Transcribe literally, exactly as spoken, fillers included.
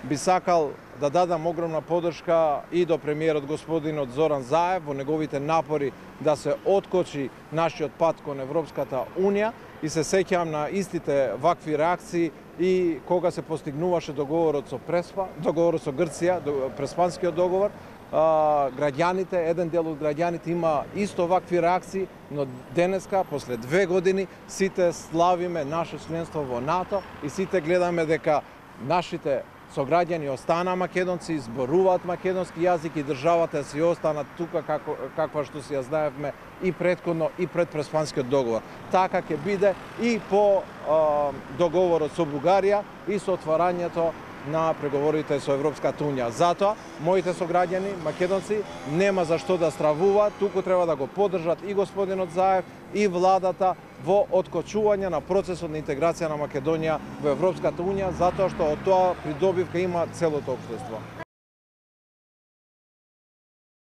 би сакал да дадам огромна поддршка и до премиерот господинот Зоран Заев во неговите напори да се откочи нашиот пат кон Европската Унија и се сеќавам на истите вакви реакции и кога се постигнуваше договорот со Преспа, договорот со Грција, Преспанскиот договор. А, граѓаните, еден дел од граѓаните има исто вакви реакции, но денеска, после две години, сите славиме наше членство во НАТО и сите гледаме дека нашите сограѓани останаа македонци, зборуваат македонски јазик и државата си остана тука како, каква што си ја знаевме и претходно и пред Преспанскиот договор. Така ќе биде и по а, договорот со Бугарија и со отварањето на преговорите со Европската Унија. Затоа, моите сограѓани, македонци, нема за што да стравуваат, туку треба да го поддржат и господинот Заев и владата во откочување на процесот на интеграција на Македонија во Европската Унија, затоа што од тоа придобивка има целото општество.